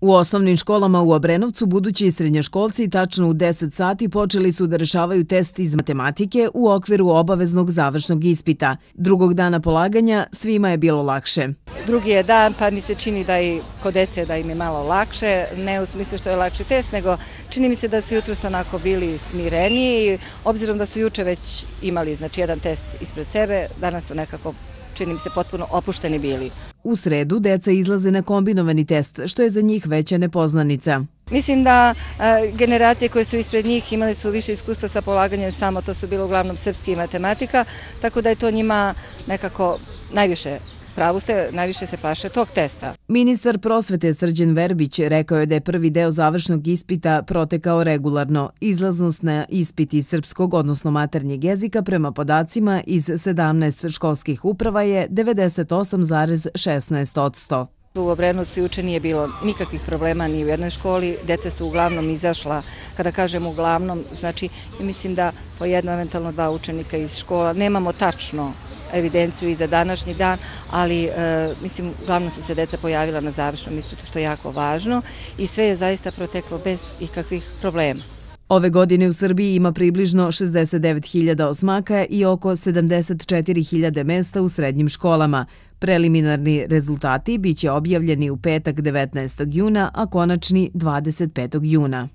U osnovnim školama u Obrenovcu budući srednjoškolci tačno u 10 sati počeli su da rešavaju test iz matematike u okviru obaveznog završnog ispita. Drugog dana polaganja svima je bilo lakše. Drugi je dan, pa mi se čini da i kod dece da im je malo lakše, ne u smislu što je lakši test, nego čini mi se da su jutros onako bili smireniji, obzirom da su juče već imali jedan test ispred sebe, danas su nekako, čini mi se, potpuno opušteni bili. U sredu deca izlaze na kombinovani test, što je za njih veća nepoznanica. Mislim da generacije koje su ispred njih imali su više iskustva sa polaganjem samo, to su bilo uglavnom srpski i matematika, tako da je to njima nekako najviše, pravu ste, najviše se plaše tog testa. Ministar prosvete Srđan Verbić rekao je da je prvi deo završnog ispita protekao regularno. Izlaznost na ispit iz srpskog, odnosno maternjeg jezika, prema podacima iz 17 školskih uprava je 98,16%. U Obrenovcu juče nije bilo nikakvih problema ni u jednoj školi, deca su uglavnom izašla, kada kažem uglavnom, znači mislim da po jedno, eventualno dva učenika iz škola, nemamo tačno evidenciju i za današnji dan, ali mislim uglavnom su se deca pojavila na završnom ispitu, što je jako važno i sve je zaista proteklo bez ikakvih problema. Ove godine u Srbiji ima približno 69.000 osmaka i oko 74.000 mesta u srednjim školama. Preliminarni rezultati biće objavljeni u petak 19. juna, a konačni 25. juna.